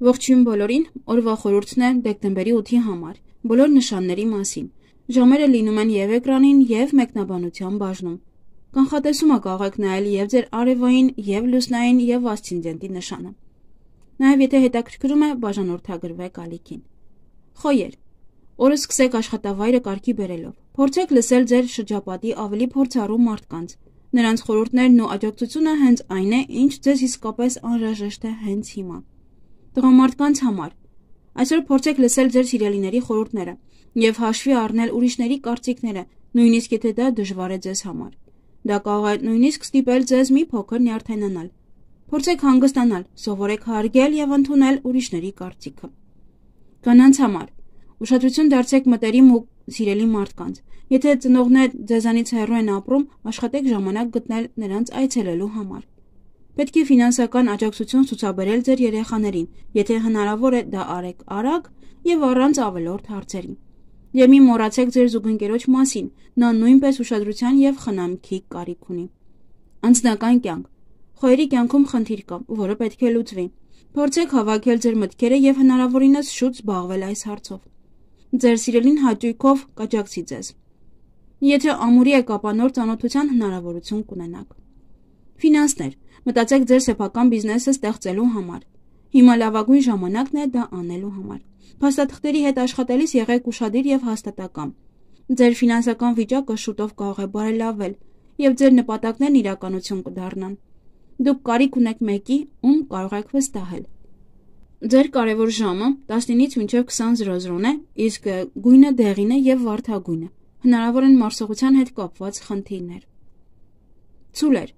Ողջույն բոլորին, օրվա խորհուրդն է դեկտեմբերի 8-ի համար, բոլոր նշանների մասին։ Ժամերը լինում են և էկրանին, և մեկնաբանության բաժնում։ Կանխատեսումը կարող եք նայել և ձեր արևային, և լուսնային, և ասցենդենտի նշանը։ Նաև եթե հետաքրքրում է, բաժանորդագրվեք ալիքին։ Խոյեր։ Օրը սկսեք աշխատավայրը կարգի բերելով։ Փորձեք լսել ձեր շրջապատի ավելի փորձառու մարդկանց։ Նրանց խորհուրդներն ու աջակցությունը հենց այն է, ինչ ձեզ իսկապես անհրաժեշտ է հենց հիմա։ Տղամարդկանց համար այսօր փորձեք լսել ձեր սիրելիների խորհուրդները եւ հաշվի առնել ուրիշների կարծիքները, նույնիսկ եթե դա դժվար է ձեզ համար։ Դա կարող է նույնիսկ ստիպել ձեզ մի փոքր նյարդայնանալ։ Փորձեք հանգստանալ, սովորեք հարգել եւ ընդունել ուրիշների կարծիքը։ Կանանց համար ուշադրություն դարձրեք մտերիմ ու սիրելի մարդկանց։ Եթե ծնողներ ձեզանից հեռու են ապրում, աշխատեք ժամանակ գտնել նրանց այցելելու համար։ Պետք է ֆինանսական աջակցություն ցուցաբերել ձեր երեխաներին, եթե հնարավոր է դա արեք արագ եւ առանց ավելորդ հարցերի։ Եվ մի մոռացեք ձեր զուգընկերոջ մասին, նա նույնպես ուշադրության եւ խնամքի կարիք ունի։ Անձնական կյանք։ Խոյերի կյանքում խնդիր կա, որը պետք է լուծվի։ Փորձեք հավաքել ձեր մտքերը եւ հնարավորինս շուտ զբաղվել այս հարցով։ Ձեր սիրելին հաճույքով կաջակցի ձեզ։ Եթե ամուրի եք, ապա նոր ծանոթության հնարավորություն կունենաք։ Ֆինանսներ։ Մտածեք ձեր սեփական բիզնեսը ստեղծելու համար։ Հիմա լավագույն ժամանակն է դա անելու համար։ Փաստաթղթերի հետ աշխատելիս եղեք ուշադիր եւ հաստատակամ։ Ձեր ֆինանսական վիճակը շուտով կարող է բարելավել եւ ձեր նպատակներն իրականություն կդառնան։ Դուք կարիք ունեք մեկի, ում կարող եք վստահել։ Ձեր կարևոր ժամը 19-ից մինչև 20:00 է, իսկ գույնը դեղին է եւ վարդագույնը։ Հնարավոր են մարսողության հետ կապված խնդիրներ։ Ցուլեր։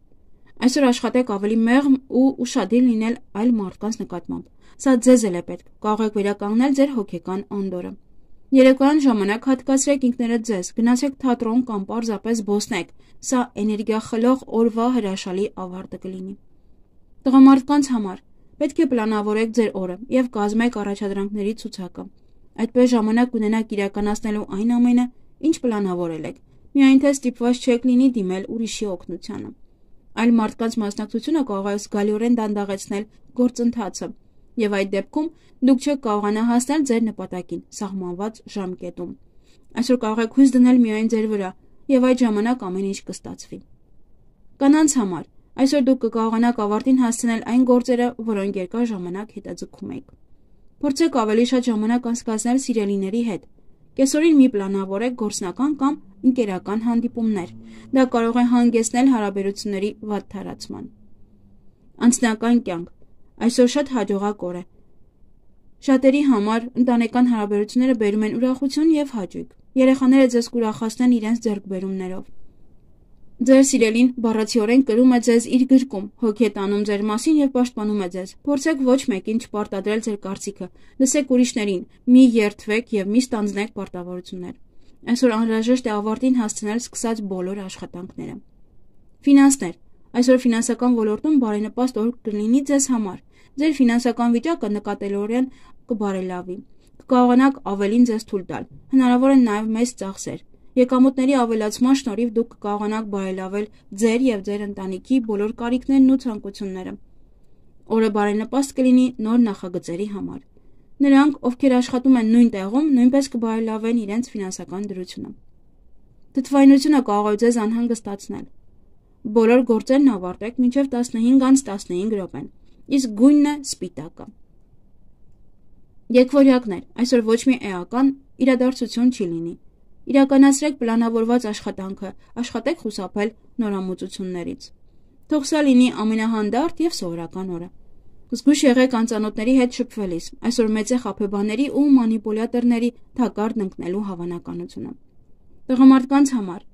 Այսօր աշխատեք ավելի մեղմ ու ուշադիր լինել այլ մարդկանց նկատմամբ։ Սա ձեզ էլ է պետք, կարող եք վերականգնել ձեր հոգեկան անդորրը։ Երեկոյան ժամանակ հատկացրեք ինքներդ ձեզ, գնացեք թատրոն կամ պարզապես զբոսնեք։ Սա էներգիա խլող օրվա հրաշալի ավարտը կլինի։ Տղամարդկանց համար պետք է պլանավորեք ձեր օրը եւ կազմեք առաջադրանքների ցուցակը։ Այդպես ժամանակ ունենաք իրականացնելու այն ամենը, ինչ պլանավորել եք։ Միայն թե ստիպված չեք լինի դիմել ուրիշի օգնությանը։ Այլ մարդկանց մասնակցությունը կարող է զգալիորեն դանդաղեցնել գործընթացը, եւ այդ դեպքում դուք չեք կարողանա հասնել ձեր նպատակին սահմանված ժամկետում։ Այսօր կարող եք հույս դնել միայն ձեր վրա, եւ այդ ժամանակ ամեն ինչ կստացվի։ Կանանց համար այսօր դուք կկարողանաք ավարտին հասցնել այն գործերը, որոնք երկար ժամանակ հետաձգում եք։ Փորձեք ավելի շատ ժամանակ անցկացնել սիրելիների հետ։ Կեսօրին մի պլանավորեք գործնական կամ ընկերական հանդիպումներ։ Դա կարող է հանգեցնել հարաբերությունների վատթարացման։ Անձնական կյանք այսօր շատ հաջողակ օր է։ Շատերի համար ընտանեկան հարաբերությունները բերում են ուրախություն եւ հաճույք։ Երեխաները ձեզ կուրախացնեն իրենց ձեռքբերումներով։ Ձեր սիրելին բառացիորեն կրում է ձեզ իր գրկում, հոգի է տանում ձեր մասին եւ պաշտպանում է ձեզ։ Փորձեք ոչ մեկին չպարտադրել ձեր կարծիքը։ Լսեք ուրիշներին, մի երդվեք եւ մի ստանձնեք պարտավորություններ։ Այսօր անհրաժեշտ է ավարտին հասցնել սկսած բոլոր աշխատանքները։ Ֆինանսներ։ Այսօր ֆինանսական ոլորտում բարենպաստ օր կլինի ձեզ համար։ Ձեր ֆինանսական վիճակը նկատելիորեն կբարելավի։ Կկարողանաք ավելին ձեզ թույլ տալ։ Հնարավոր են նաև մեծ ծախսեր։ Եկամուտների ավելացման շնորհիվ դուք կկարողանաք բարելավել ձեր եւ ձեր ընտանիքի բոլոր կարիքներն ու ցանկությունները։ Օրը բարենպաստ կլինի նոր նախագծերի համար։ Նրանք, ովքեր աշխատում են նույն տեղում, նույնպես կբարելավեն իրենց ֆինանսական դրությունը։ Թթվայնությունը կարող է ձեզ անհանգստացնել։ Բոլոր գործերն ավարտեք մինչև 15:15 րոպեն, իսկ գույնն է սպիտակը։ Եկվորյակներ, այսօր ոչ մի էական իրադարձություն չի լինի։ Իրականացրեք պլանավորված աշխատանքը, աշխատեք խուսափել նորամուծություններից։ Թող սա լինի ամենահանդարտ եւ սովորական օրը։ Զգույշ եղեք անծանոթների հետ շփվելիս։ Այսօր մեծ է խաբեբաների ու մանիպուլյատորների թակարդ ընկնելու հավանականությունը։ Տղամարդկանց համար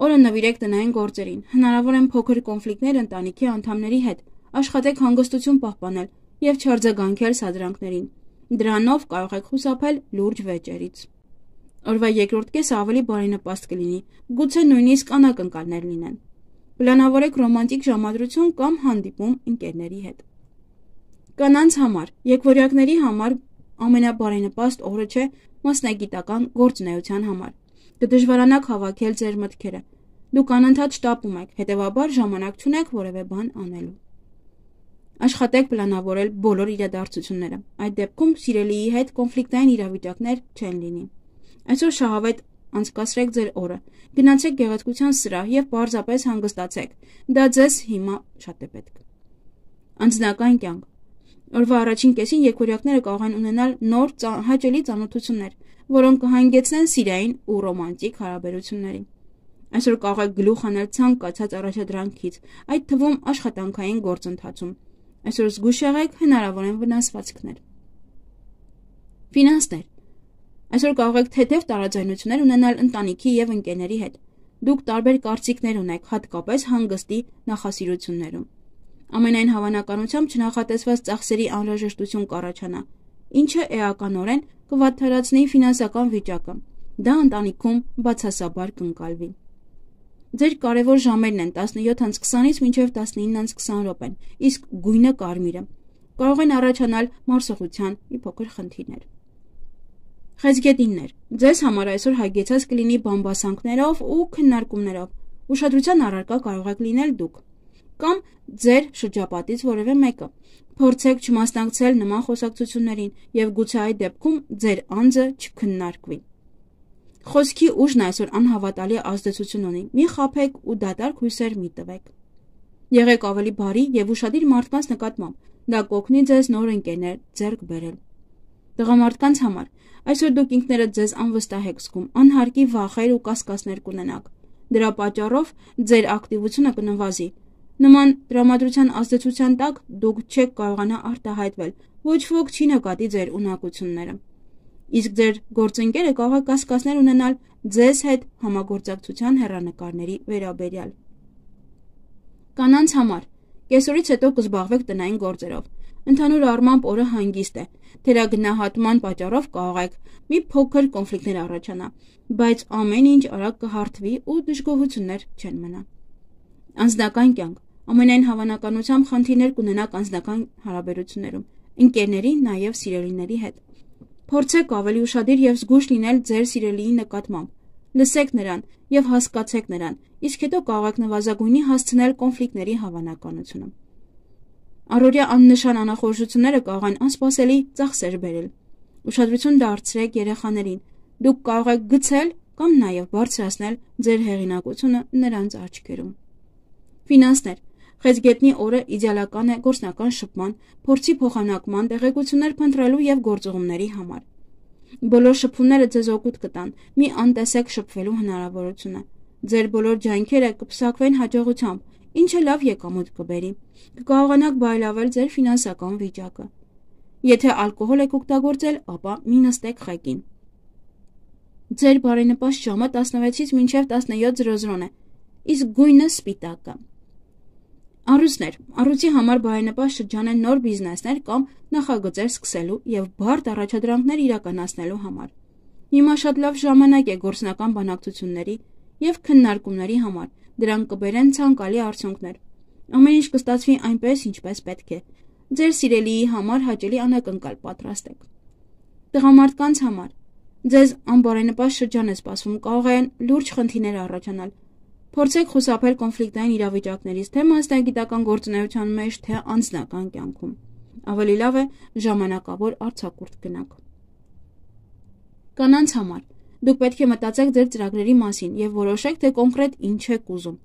օրը նվիրեք տնային գործերին։ Հնարավոր են փոքր կոնֆլիկտներ ընտանիքի անդամների հետ։ Աշխատեք հանգստություն պահպանել եւ չարձագանքել սադրանքներին։ Դրանով կարող եք խուսափել լուրջ վեճերից։ Օրվա երկրորդ կեսը ավելի բարենպաստ կլինի, գուցե նույնիսկ անակնկալներ լինեն։ Պլանավորեք ռոմանտիկ ժամադրություն կամ հանդիպում ընկերների հետ։ Կանանց համար եկվորյակների համար ամենաբարենպաստ օրը չէ մասնագիտական գործունեության համար։ Կդժվարանաք հավաքել ձեր մտքերը։ Դուք անընդհատ շտապում եք, հետևաբար ժամանակ չունեք որևէ բան անելու։ Աշխատեք պլանավորել բոլոր իրադարձությունները։ Այդ դեպքում սիրելիի հետ կոնֆլիկտային իրավիճակներ չեն լինի։ Այսօր շահավետ անցկացրեք ձեր օրը։ Գնացեք գեղեցկության սրահ եւ պարզապես հանգստացեք։ Դա ձեզ հիմա շատ է պետք։ Անձնական կյանք։ Օրվա առաջին կեսին երկորյակները կարող են ունենալ նոր հաճելի ծանոթություններ, որոնք կհանգեցնեն սիրային ու ռոմանտիկ հարաբերությունների։ Այսօր կարող եք գլուխ հանել ցանկացած առաջադրանքից, այդ թվում աշխատանքային գործընթացում։ Այսօր զգույշ եղեք հնարավոր են վնասվածքներ։ Ֆինանսներ։ Այսօր կարող եք թեթև տարաձայնություններ ունենալ ընտանիքի եւ ընկերների հետ։ Դուք տարբեր կարծիքներ ունեք, հատկապես հանգստի նախասիրություններում։ Ամենայն հավանականությամբ չնախատեսված ծախսերի անհրաժեշտություն կառաջանա, ինչը էականորեն կվատթարացնի ֆինանսական վիճակը։ Դա ընտանիքում բացասաբար կընկալվի։ Ձեր կարևոր ժամերն են 17:20-ից մինչև 19:20 րոպեն, իսկ գույնը կարմիրը։ Կարող են առաջանալ մարսողության մի փոքր խնդիրներ։ Խեցգետիններ։ Ձեզ համար այսօր հագեցած կլինի բամբասանքներով ու քննարկումներով։ Ուշադրության առարկա կարող եք լինել դուք կամ ձեր շրջապատից որևէ մեկը։ Փորձեք չմասնակցել նման խոսակցություններին եւ գուցե այդ դեպքում ձեր անձը չքննարկվի։ Խոսքի ուժն այսօր անհավատալի ազդեցություն ունի։ Մի խաբեք ու դատարկ հույսեր մի տվեք։ Եղեք ավելի բարի եւ ուշադիր մարդկանց նկատմամբ։ Դա կօգնի ձեզ նոր ընկերներ ձեռք բերել։ Տղամարդկանց համար այսօր դուք ինքներդ ձեզ անվստահ եք զգում, անհարկի վախեր ու կասկածներ կունենաք։ Դրա պատճառով ձեր ակտիվությունը կնվազի։ Նման տրամադրության ազդեցության տակ դուք չեք կարողանա արտահայտվել, ոչ ոք չի նկատի ձեր ունակությունները։ Իսկ ձեր գործընկերը կարող է կասկածներ ունենալ ձեզ հետ համագործակցության հեռանկարների վերաբերյալ։ Կանանց համար կեսօրից հետո կզբաղվեք տնային գործերով։ Ընդհանուր առմամբ օրը հանգիստ է։ Թերագնահատման պատճառով կարող եք մի փոքր կոնֆլիկտներ առաջանա, բայց ամեն ինչ արագ կհարթվի ու դժգոհություններ չեն մնա։ Անձնական կյանք։ Ամենայն հավանականությամբ խնդիրներ կունենաք անձնական հարաբերություններում, ընկերների, նաև սիրելիների հետ։ Փորձեք ավելի ուշադիր եւ զգույշ լինել ձեր սիրելիի նկատմամբ։ Լսեք նրան եւ հասկացեք նրան, իսկ հետո կարող եք նվազագույնի հասցնել կոնֆլիկտների հավանականությունը։ Առօրյա աննշան անախորժությունները կարող են անսպասելի ծախսեր բերել։ Ուշադրություն դարձրեք երեխաներին։ Դուք կարող եք գցել կամ նաև բարձրացնել ձեր հեղինակությունը նրանց աչքերում։ Ֆինանսներ։ Խեցգետնի օրը իդեալական է գործնական շփման, փորձի փոխանակման, տեղեկություններ փնտրելու եւ գործողումների համար։ Բոլոր շփումները ձեզ օգուտ կտան, մի անտեսեք շփվելու հնարավորությունը։ Ձեր բոլոր ջանքերը կփսակվեն հաջողությամբ, ինչը լավ եկամուտ կբերի։ Կկարողանաք բարելավել ձեր ֆինանսական վիճակը։ Եթե ալկոհոլ եք օգտագործել, ապա մի նստեք խեկին։ Ձեր բարենպաստ ժամը 16-ից մինչև 17:00 է, իսկ գույնը սպիտակը։ Առույցներ։ Առույցի համար բարենպաստ շրջան են նոր բիզնեսներ կամ նախագծեր սկսելու եւ բարդ առաջադրանքներ իրականացնելու համար։ Հիմա շատ լավ ժամանակ է գործնական բանակցությունների եւ քննարկումների համար։ Դրանք կբերեն ցանկալի արդյունքներ։ Ամեն ինչ կստացվի այնպես, ինչպես պետք է։ Ձեր սիրելիի համար հաճելի անակնկալ պատրաստեք։ Տղամարդկանց համար ձեզ անբարենպաստ շրջան է սպասվում, կարող են լուրջ խնդիրներ առաջանալ։ Փորձեք խուսափել կոնֆլիկտային իրավիճակներից, թե մասնագիտական գործունեության մեջ, թե անձնական կյանքում։ Ավելի լավ է ժամանակավոր արձակուրդ գնաք։ Կանանց համար դուք պետք է մտածեք ձեր ծրագրերի մասին եւ որոշեք, թե կոնկրետ ինչ եք ուզում։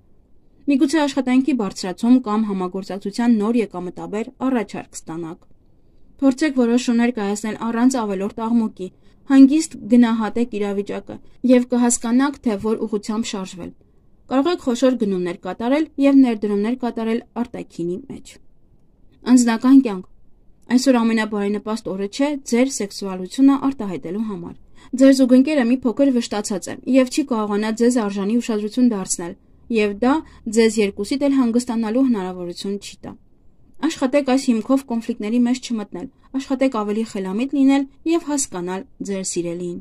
Միգուցե աշխատանքի բարձրացում կամ համագործակցության նոր եկամտաբեր առաջարկ ստանաք։ Փորձեք որոշումներ կայացնել առանց ավելորդ աղմուկի, հանգիստ գնահատեք իրավիճակը եւ կհասկանաք, թե որ ուղղությամբ շարժվել։ Կարող եք խոշոր գնումներ կատարել եւ ներդրումներ կատարել արտաքինի մեջ։ Անձնական կյանք։ Այսօր ամենաբարենպաստ օրը չէ ձեր սեքսուալությունը արտահայտելու համար։ Ձեր զուգընկերը մի փոքր վշտացած է եւ չի կարողանա ձեզ արժանի ուշադրություն դարձնել, եւ դա ձեզ երկուսիդ էլ հանգստանալու հնարավորություն չի տա։ Աշխատեք այս հիմքով կոնֆլիկտների մեջ չմտնել, աշխատեք ավելի խելամիտ լինել եւ հասկանալ ձեր սիրելիին։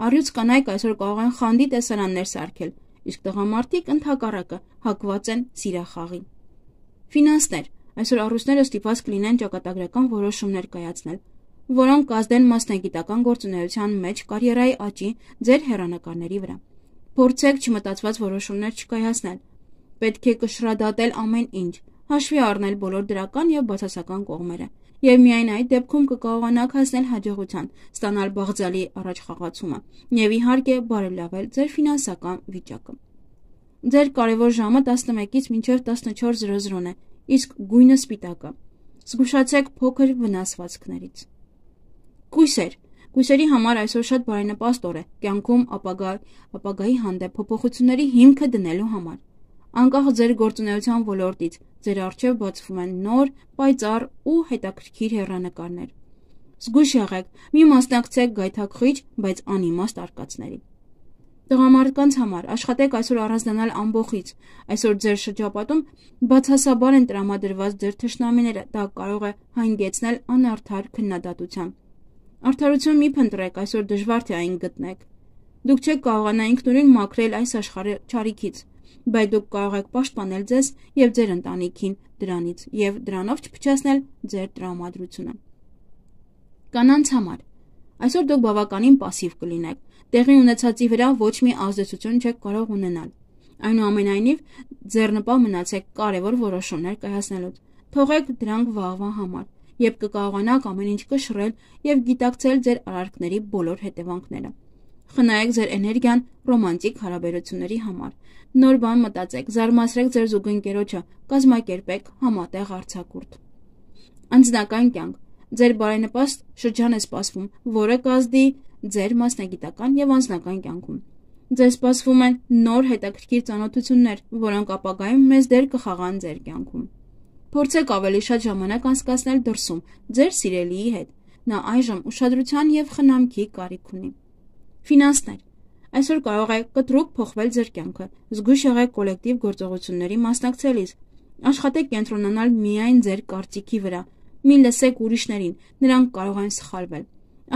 Առյուծ կանայք այսօր կարող են խանդի տեսարաններ սարքել, իսկ տղամարդիկ ընդհակառակը հակված են սիրախաղի։ Ֆինանսներ։ Այսօր առույցները ստիպված կլինեն ճակատագրական որոշումներ կայացնել, որոնք կազդեն մասնագիտական գործունեության մեջ կարիերայի աճի ձեր հեռանկարների վրա։ Փորձեք չմտածված որոշումներ չկայացնել։ Պետք է կշռադատել ամեն ինչ, հաշվի առնել բոլոր դրական եւ բացասական կողմերը, եւ միայն այդ դեպքում կկարողանաք հասնել հաջողության, ստանալ բաղձալի առաջխաղացումը եւ իհարկե բարելավել ձեր ֆինանսական վիճակը։ Ձեր կարևոր ժամը 11-ից մինչև 14:00 է, իսկ գույնը սպիտակը։ Զգուշացեք փոքր վնասվածքներից։ Կույսեր։ Կույսերի համար այսօր շատ բարենպաստ օր է կյանքում ապագայի հանդեպ փոփոխությունների հիմքը դնելու համար։ Անկախ ձեր գործունեության ոլորտից, ձեր առջև բացվում են նոր, պայծառ ու հետաքրքիր հեռանկարներ։ Զգույշ եղեք, մի մասնակցեք գայթակղիչ, բայց անիմաստ արկածների։ Տղամարդկանց համար աշխատեք այսօր առանձնանալ ամբոխից։ Այսօր ձեր շրջապատում բացասաբար են տրամադրված ձեր թշնամիները, դա կարող է հանգեցնել անարդար քննադատության։ Արդարություն մի փնտրեք, այսօր դժվար թե այն գտնեք։ Դուք չեք կարողանա ինքնուրույն մաքրել այս աշխարհի չարիքից, բայց դուք կարող եք պաշտպանել ձեզ եւ ձեր ընտանիքին դրանից եւ դրանով չփչացնել ձեր տրամադրությունը։ Կանանց համար այսօր դուք բավականին пассив կլինեք։ Տեղի ունեցածի վրա ոչ մի ազդեցություն չեք կարող ունենալ։ Այնուամենայնիվ, ձեռնպահ մնացեք կարևոր որոշումներ կայացնելուց։ Թողեք դրանք վաղվա համար, երբ կկարողանաք ամեն ինչ կշռել եւ գիտակցել ձեր արարքների բոլոր հետևանքները։ Խնայեք ձեր էներգիան ռոմանտիկ հարաբերությունների համար։ Նոր բան մտածեք, զարմացրեք ձեր զուգընկերոջը, կազմակերպեք համատեղ արձակուրդ։ Անձնական կյանք։ Ձեր բարենպաստ շրջան է սպասվում, որը կազդի ձեր մասնագիտական եւ անձնական կյանքում։ Ձեզ սպասվում են նոր հետաքրքիր ծանոթություններ, որոնք ապագայում մեծ դեր կխաղան ձեր կյանքում։ Փորձեք ավելի շատ ժամանակ անցկացնել դրսում, ձեր սիրելիի հետ։ Նա այժմ ուշադրության եւ խնամքի կարիք ունի։ Ֆինանսներ։ Այսօր կարող է կտրուկ փոխվել ձեր կյանքը։ Զգույշ եղեք կոլեկտիվ գործողությունների մասնակցելիս։ Աշխատեք կենտրոնանալ միայն ձեր կարծիքի վրա։ Մի լսեք ուրիշներին, նրանք կարող են սխալվել։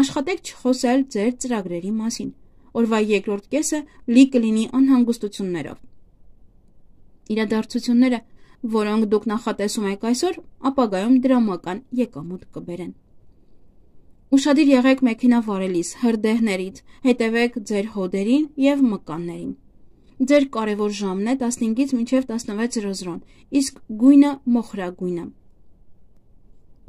Աշխատեք չխոսել ձեր ծրագրերի մասին։ Օրվա երկրորդ կեսը լի կլինի անհանգստություններով։ Իրադարձությունները, որոնք դուք նախատեսում եք այսօր, ապագայում դրամական եկամուտ կբերեն։ Ուշադիր եղեք մեքենա վարելիս, հրդեհներից, հետևեք ձեր հոդերին եւ մկաններին։ Ձեր կարևոր ժամն է 15-ից մինչև 16:00, իսկ գույնը մոխրագույնը։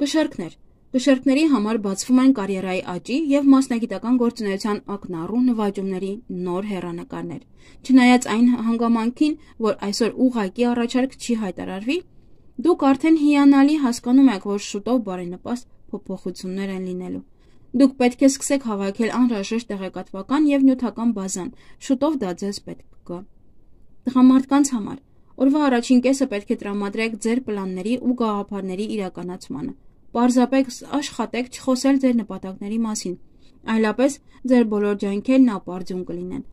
Կշեռքներ։ Կշեռքների համար բացվում են կարիերայի աճի եւ մասնագիտական գործունեության ակնառու նվաճումների նոր հեռանկարներ։ Չնայած այն հանգամանքին, որ այսօր ուղղակի առաջարկ չի հայտարարվի, դուք արդեն հիանալի հասկանում եք, որ շուտով բարենպաստ փոփոխություններ են լինելու։ Դուք պետք է սկսեք հավաքել անհրաժեշտ տեղեկատվական եւ նյութական բազան, շուտով դա ձեզ պետք կգա։ Տղամարդկանց համար օրվա առաջին կեսը պետք է տրամադրեք ձեր պլանների ու գաղափարների իրականացմանը։ Պարզապես աշխատեք չխոսել ձեր նպատակների մասին, այլապես ձեր բոլոր ջանքերն ապարդյուն կլինեն։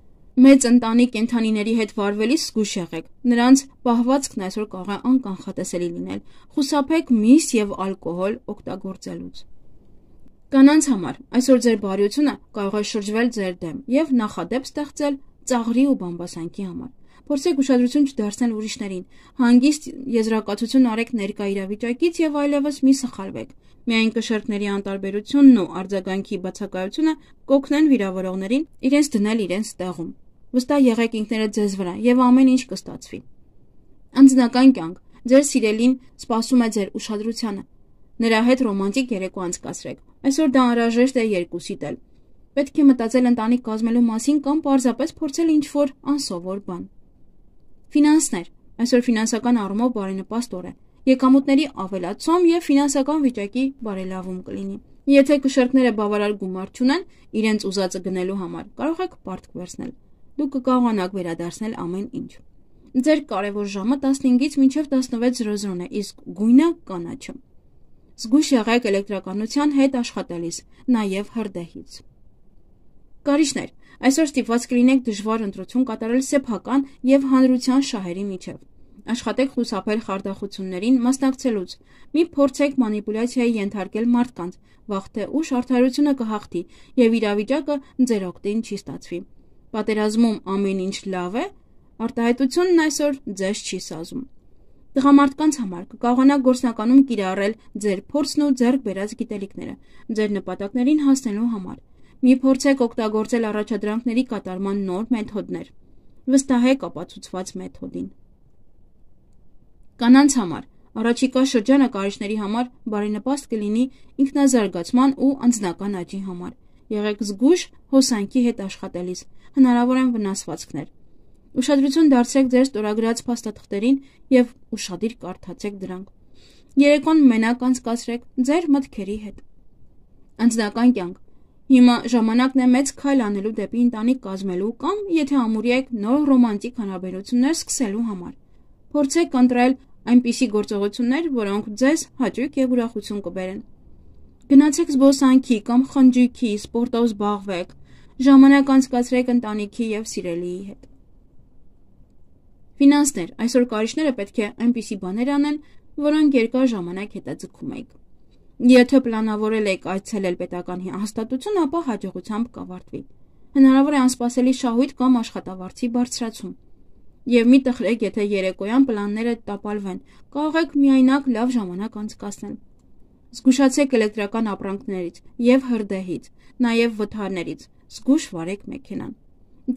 Մեծ ընտանիք կենդանիների հետ վարվելիս զգույշ եղեք, նրանց պահվածքն այսօր կարող է անկանխատեսելի լինել։ Խուսափեք միս եւ ալկոհոլ օգտագործելուց։ Կանանց համար այսօր ձեր բարյությունը կարող է շրջվել ձեր դեմ եւ նախադեպ ստեղծել ծաղրի ու բամբասանքի համար։ Փորձեք ուշադրություն չդարձնել ուրիշներին, հանգիստ եզրակացություն արեք ներկա իրավիճակից եւ այլևս մի սխալվեք։ Միայն կշեռքների անտարբերությունն ու արձագանքի բացակայությունը կօգնեն վիրավորողներին իրենց դնել իրենց տեղում։ Վստահ եղեք ինքներդ ձեզ վրա եւ ամեն ինչ կստացվի։ Անձնական կյանք։ Ձեր սիրելին սպասում է ձեր ուշադրությանը։ Նրա հետ ռոմանտիկ երեկո անցկացրեք։ Այսօր դա անհրաժեշտ է երկուսիդ էլ։ Պետք է մտածել ընտանիք կազմելու մասին կամ պարզապես փորձել ինչ-որ անսովոր բան։ Ֆինանսներ։ Այսօր ֆինանսական առումով բարենպաստ օր է։ Եկամուտների ավելացում եւ ֆինանսական վիճակի բարելավում կլինի։ Եթե կշեռքները բավարար գումար չունեն իրենց ուզածը գնելու համար, կարող եք պարտք վերցնել։ Դուք կկարողանաք վերադարձնել ամեն ինչ։ Ձեր կարևոր ժամը 15-ից մինչև 16:00 է, իսկ գույնը կանաչը։ Զգույշ եղեք էլեկտրականության հետ աշխատելիս, նաև հրդեհից։ Կարիճներ, այսօր ստիպված կլինեք դժվար ընտրություն կատարել սեփական եւ հանրության շահերի միջև։ Աշխատեք խուսափել խարդախություններին մասնակցելուց։ Մի փորձեք մանիպուլյացիայի ենթարկել մարդկանց, վաղ թե ուշ արդարությունը կհաղթի եւ իրավիճակը ձեր օգտին չի ստացվի։ Պատերազմում ամեն ինչ լավ է, արտահայտությունն այսօր ձեզ չի սազում։ Տղամարդկանց համար կկարողանաք գործնականում կիրառել ձեր փորձն ու ձեռք բերած գիտելիքները ձեր նպատակներին հասնելու համար։ Մի փորձեք օգտագործել առաջադրանքների կատարման նոր մեթոդներ։ Վստահեք ապացուցված մեթոդին։ Կանանց համար Առաջիկա շրջանը կարիճների համար բարենպաստ կլինի ինքնազարգացման ու անձնական աճի համար։ Եղեք զգույշ հոսանքի հետ աշխատելիս, հնարավոր են վնասվածքներ։ Ուշադրություն դարձրեք ձեր ստորագրած փաստաթղթերին եւ ուշադիր կարդացեք դրանք։ Երեկոն մենակ անցկացրեք ձեր մտքերի հետ։ Անձնական կյանք։ Հիմա ժամանակն է մեծ քայլ անելու դեպի ընտանիք կազմելու կամ, եթե ամուր եք, նոր ռոմանտիկ հարաբերություններ սկսելու համար։ Փորձեք ընտրել այնպիսի գործողություններ, որոնք ձեզ հաճույք եւ ուրախություն կբերեն։ Գնացեք զբոսանքի կամ խնջույքի, սպորտով զբաղվեք, ժամանակ անցկացրեք ընտանիքի եւ սիրելիի հետ։ Ֆինանսներ։ Այսօր կարիճները պետք է այնպիսի բաներ անեն, որոնք երկար ժամանակ հետաձգում եք։ Եթե պլանավորել եք այցելել պետական հաստատություն, ապա հաջողությամբ կավարտվի։ Հնարավոր է անսպասելի շահույթ կամ աշխատավարձի բարձրացում։ Եվ մի տխրեք, եթե երեկոյան պլանները տապալվեն, կարող եք միայնակ լավ ժամանակ անցկացնել։ Զգուշացեք էլեկտրական ապրանքներից եւ հրդեհից, նաեւ վթարներից, զգույշ վարեք մեքենան։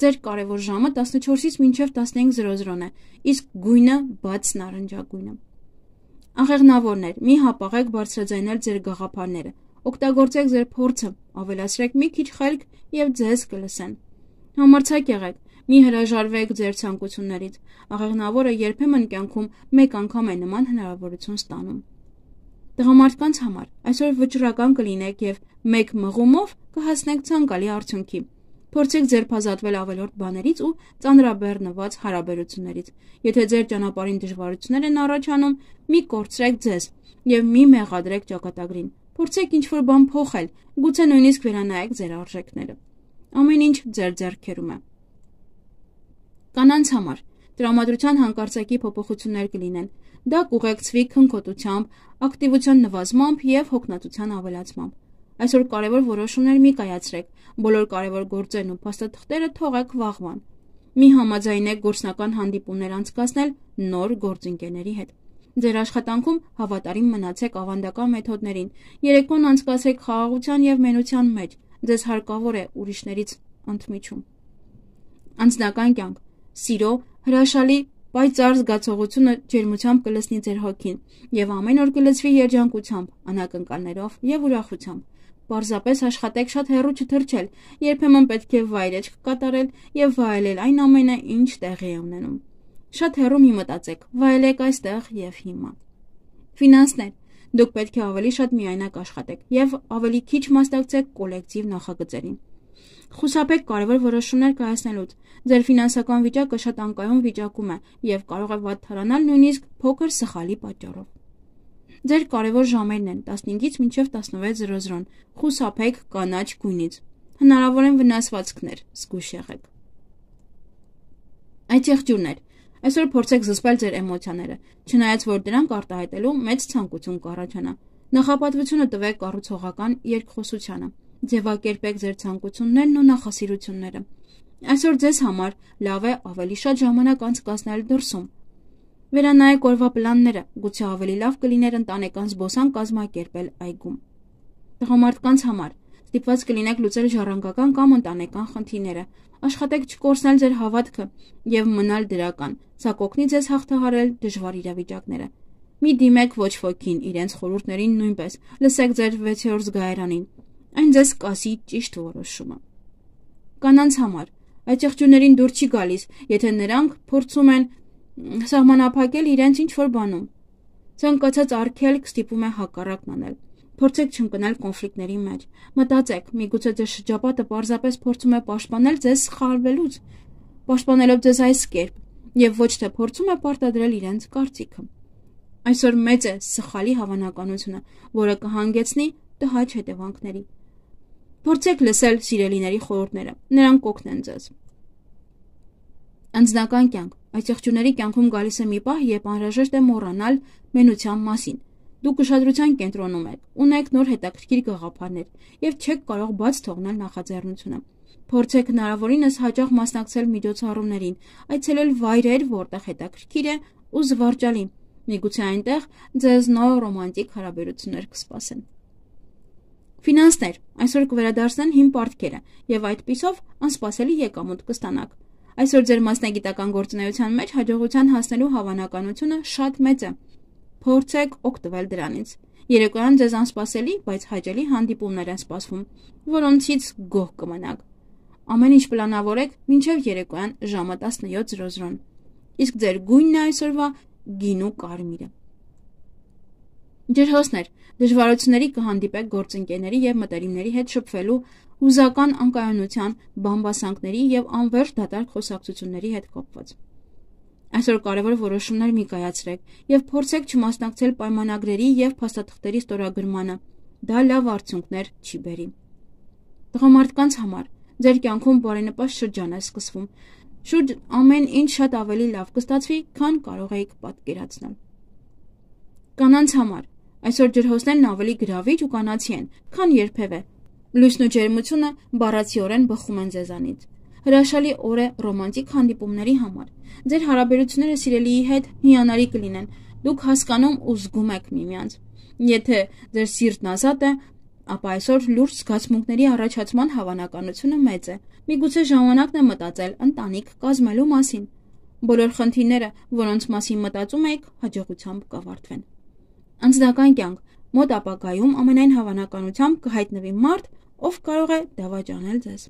Ձեր կարևոր ժամը 14-ից մինչև 15:00 է, իսկ գույնը բաց նարնջագույնը։ Աղեղնավորներ, մի հապաղեք բարձրաձայնել ձեր գաղափարները, օգտագործեք ձեր փորձը, ավելացրեք մի քիչ խելք եւ ձեզ կլսեն։ Համարձակ եղեք, մի հրաժարվեք ձեր ցանկություններից, աղեղնավորը երբեմն կյանքում մեկ անգամ է նման հնարավորություն ստանում։ Տղամարդկանց համար այսօր վճռական կլինեք եւ մեկ մղումով կհասնեք ցանկալի արդյունքի։ Փորձեք ձերբազատվել ավելորդ բաներից ու ծանրաբեռնված հարաբերություններից։ Եթե ձեր ճանապարհին դժվարություններ են առաջանում, մի կորցրեք ձեզ եւ մի մեղադրեք ճակատագրին։ Փորձեք ինչ-որ բան փոխել, գուցե նույնիսկ վերանայեք ձեր արժեքները։ Ամեն ինչ ձեր ձեռքերում է։ Կանանց համար տրամադրության հանկարծակի փոփոխություններ կլինեն։ Դա կուղեկցվի քնքոտությամբ, ակտիվության նվազմամբ եւ հոգնածության ավելացմամբ։ Այսօր կարևոր որոշումներ մի կայացրեք, բոլոր կարևոր գործերն ու փաստաթղթերը թողեք վաղվան։ Մի համաձայնեք գործնական հանդիպումներ անցկացնել նոր գործընկերների հետ։ Ձեր աշխատանքում հավատարիմ մնացեք ավանդական մեթոդներին։ Երեկոն անցկացրեք խաղաղության եւ մենության մեջ։ Ձեզ հարկավոր է ուրիշներից ընդմիջում։ Անձնական կյանք։ Սիրո, հրաշալի, պայծառ զգացողությունը ջերմությամբ կլցնի ձեր հոգին եւ ամեն օր կլցվի երջանկությամբ, անակնկալներով եւ ուրախությամբ։ Պարզապես աշխատեք շատ հեռու չթռչել, երբեմն պետք է վայրեջք կատարել եւ վայելել այն ամենը, ինչ տեղի է ունենում։ Շատ հեռու մի մտածեք, վայելեք այստեղ եւ հիմա։ Ֆինանսներ։ Դուք պետք է ավելի շատ միայնակ աշխատեք եւ ավելի քիչ մասնակցեք կոլեկտիվ նախագծերին։ Խուսափեք կարևոր որոշումներ կայացնելուց։ Ձեր ֆինանսական վիճակը շատ անկայուն վիճակում է եւ կարող է վատթարանալ նույնիսկ փոքր սխալի պատճառով։ Ձեր կարևոր ժամերն են 15-ից մինչև 16:00։ Խուսափեք կանաչ գույնից։ Հնարավոր են վնասվածքներ, զգույշ եղեք։ Այդ եղջյուրներ։ Այսօր փորձեք զսպել ձեր էմոցիաները, չնայած որ դրանք արտահայտելու մեծ ցանկություն կառաջանա։ Նախապատվությունը տվեք կառուցողական երկխոսությանը։ Ձևակերպեք ձեր ցանկություններն ու նախասիրությունները։ Այսօր ձեզ համար լավ է ավելի շատ ժամանակ անցկացնել դրսում։ Վերանայեք օրվա պլանները, գուցե ավելի լավ կլիներ ընտանեկան զբոսանք կազմակերպել այգում։ Տղամարդկանց համար ստիպված կլինեք լուծել ժառանգական կամ ընտանեկան խնդիրները։ Աշխատեք չկորցնել ձեր հավատքը եւ մնալ դրական։ Սա կօգնի ձեզ հաղթահարել դժվար իրավիճակները։ Մի դիմեք ոչ ոքին, իրենց խորհուրդներին նույնպես։ Լսեք ձեր 6-րդ զգայարանին։ Այն ձեզ կասի ճիշտ որոշումը։ Կանանց համար այդ եղջյուրներին դուր չի գալիս, եթե նրանք փորձում են սահմանափակել իրենց ինչ-որ բանում։ Ցանկացած արգելք ստիպում է հակառակն անել։ Փորձեք չընկնել կոնֆլիկտների մեջ։ Մտածեք, միգուցե ձեր շրջապատը պարզապես փորձում է պաշտպանել ձեզ սխալվելուց, պաշտպանելով ձեզ այս կերպ, եւ ոչ թե փորձում է պարտադրել իրենց կարծիքը։ Այսօր մեծ է սխալի հավանականությունը, որը կհանգեցնի տհաճ հետևանքների։ Փորձեք լսել սիրելիների խորհուրդները, նրանք կօգնեն ձեզ։ Անձնական կյանք։ Այս եղջյուրների կյանքում գալիս է մի պահ, երբ անհրաժեշտ է մոռանալ մենության մասին։ Դուք ուշադրության կենտրոնում եք, ունեք նոր հետաքրքիր գաղափարներ եւ չեք կարող բաց թողնել նախաձեռնությունը։ Փորձեք հնարավորինս հաճախ մասնակցել միջոցառումներին, այցելել վայրեր, որտեղ հետաքրքիր է ու զվարճալի։ Միգուցե այնտեղ ձեզ նոր ռոմանտիկ հարաբերություններ կսպասեն։ Ֆինանսներ։ Այսօր կվերադարձնեն հին պարտքերը եւ այդպիսով անսպասելի եկամուտ կստանաք։ Այսօր ձեր մասնագիտական գործունեության մեջ հաջողության հասնելու հավանականությունը շատ մեծ է։ փորձեք օգտվել դրանից։ Երեկոյան ձեզ անսպասելի, բայց հաճելի հանդիպումներ են սպասվում, որոնցից գոհ կմնաք։ Ամեն ինչ պլանավորեք մինչև երեկոյան ժամը 17:00-ն։ Իսկ ձեր գույնն է այսօրվա գինու կարմիրը։ Ջրհոսներ, դժվարությունների կհանդիպեք գործընկերների եւ մտերիմների հետ շփվելու, հուզական անկայունության, բամբասանքների եւ անվերջ դատարկ խոսակցությունների հետ կապված։ Այսօր կարևոր որոշումներ մի կայացրեք եւ փորձեք չմասնակցել պայմանագրերի եւ փաստաթղթերի ստորագրմանը։ Դա լավ արդյունքներ չի բերի։ Տղամարդկանց համար ձեր կյանքում բարենպաստ շրջան է սկսվում։ Շուրջ ամեն ինչ շատ ավելի լավ կստացվի, քան կարող եք պատկերացնել։ Կանանց համար այսօր ջրհոսներն ավելի գրավիչ ու կանացի են, քան երբևէ։ Լույսն ու ջերմությունը բառացիորեն բխում են ձեզանից։ Հրաշալի օր է ռոմանտիկ հանդիպումների համար։ Ձեր հարաբերությունները սիրելիի հետ հիանալի կլինեն։ Դուք հասկանում ու զգում եք միմյանց։ Եթե ձեր սիրտն ազատ է, ապա այսօր լուրջ զգացմունքների առաջացման հավանականությունը մեծ է։ Միգուցե ժամանակն է մտածել ընտանիք կազմելու մասին։ Բոլոր խնդիրները, որոնց մասին մտածում եք, հաջողությամբ կավարտվեն։ Անձնական կյանք մոտ ապագայում ամենայն հավանականությամբ կհայտնվի մարդ, ով կարող է դավաճանել ձեզ։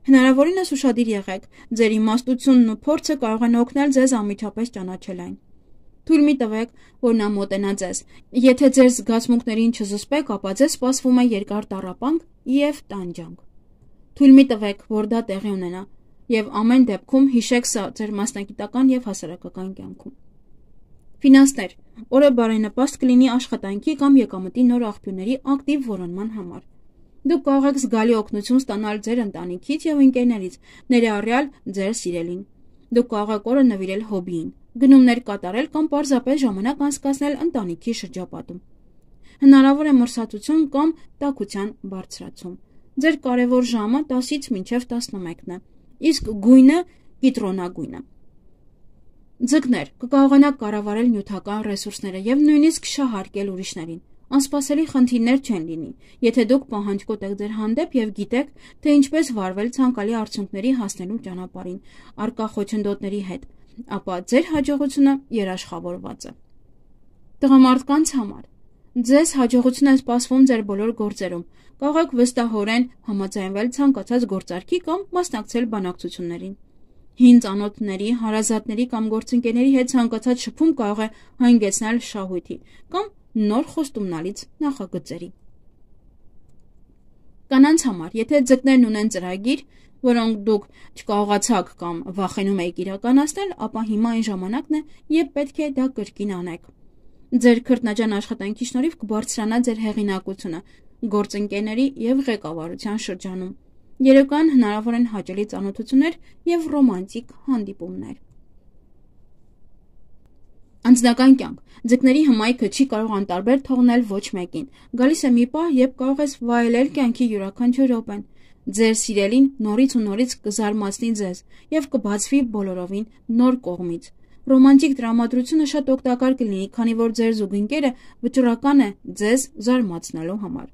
Հնարավորինս ուշադիր եղեք, ձեր իմաստությունն ու փորձը կարող են օգնել ձեզ անմիջապես ճանաչել այն։ Թույլ մի տվեք, որ նա մոտենա ձեզ։ Եթե ձեր զգացմունքներին չզսպեք, ապա ձեզ սպասվում է երկար տառապանք եւ տանջանք։ Թույլ մի տվեք, որ դա տեղի ունենա, եւ ամեն դեպքում հիշեք սա ձեր մասնագիտական եւ հասարակական կյանքում։ Ֆինանսներ, օրը բարենպաստ կլինի աշխատանքի կամ եկամտի նոր աղբյուրների ակտիվ որոնման համար։ Դուք կարող եք զգալի օգնություն ստանալ ձեր ընտանիքից եւ ընկերներից, ներառյալ ձեր սիրելին։ Դուք կարող եք օրը նվիրել հոբիին, գնումներ կատարել կամ պարզապես ժամանակ անցկացնել ընտանիքի շրջապատում։ Հնարավոր է մրսածություն կամ տաքության բարձրացում։ Ձեր կարևոր ժամը 10-ից մինչև 11-ն է, իսկ գույնը կիտրոնագույնը։ Ձկներ, կկարողանաք կառավարել նյութական ռեսուրսները եւ նույնիսկ շահարկել ուրիշներին։ Անսպասելի խնդիրներ չեն լինի, եթե դուք պահանջկոտ եք ձեր հանդեպ եւ գիտեք, թե ինչպես վարվել ցանկալի արդյունքների հասնելու ճանապարհին, առկա խոչընդոտների հետ, ապա ձեր հաջողությունը երաշխավորված է։ Տղամարդկանց համար ձեզ հաջողություն է սպասվում ձեր բոլոր գործերում։ Կարող եք վստահորեն համաձայնվել ցանկացած գործարքի կամ մասնակցել բանակցություններին։ Հին ծանոթների, հարազատների կամ գործընկերների հետ ցանկացած շփում կարող է հանգեցնել շահույթի կամ նոր խոստումնալից նախագծերի։ Կանանց համար, եթե ձկներն ունեն ծրագիր, որոնք դուք չկարողացաք կամ վախենում եք իրականացնել, ապա հիմա այն ժամանակն է, երբ պետք է դա կրկին անեք։ Ձեր քրտնաջան աշխատանքի շնորհիվ կբարձրանա ձեր հեղինակությունը գործընկերների եւ ղեկավարության շրջանում։ Երեկոյան հնարավոր են հաճելի ծանոթություններ եւ ռոմանտիկ հանդիպումներ։ Անձնական կյանք։ Ձկների հմայքը չի կարող անտարբեր թողնել ոչ մեկին։ Գալիս է մի պահ, երբ կարող ես վայելել կյանքի յուրաքանչյուր րոպեն։ Ձեր սիրելին նորից ու նորից կզարմացնի ձեզ եւ կբացվի բոլորովին նոր կողմից։ Ռոմանտիկ տրամադրությունը շատ օգտակար կլինի, քանի որ ձեր զուգընկերը վճռական է ձեզ զարմացնելու համար։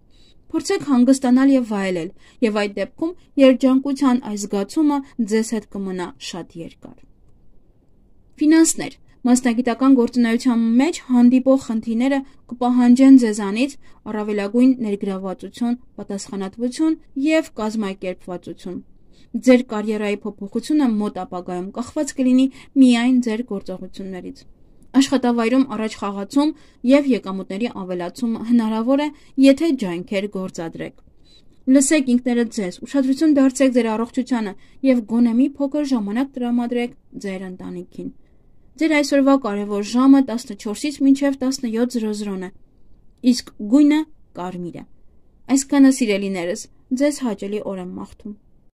Փորձեք հանգստանալ եւ վայելել, եւ այդ դեպքում երջանկության այս զգացումը ձեզ հետ կմնա շատ երկար։ Ֆինանսներ, մասնագիտական գործունեության մեջ հանդիպող խնդիրները կպահանջեն ձեզանից առավելագույն ներգրավվածություն, պատասխանատվություն եւ կազմակերպվածություն։ Ձեր կարիերայի փոփոխությունը մոտ ապագայում կախված կլինի միայն ձեր գործողություններից։ Աշխատավայրում առաջ խաղացում եւ եկամուտների ավելացումը հնարավոր է, եթե ջանքեր գործադրեք։ Լսեք ինքներդ ձեզ, ուշադրություն դարձրեք ձեր առողջությանը եւ գոնե մի փոքր ժամանակ տրամադրեք ձեր ընտանիքին։ Ձեր այսօրվա կարևոր ժամը 14-ից մինչև 17:00 է, իսկ գույնը կարմիր է։ Այսքանը սիրելիներս, ձեզ հաճելի օր եմ մաղթում։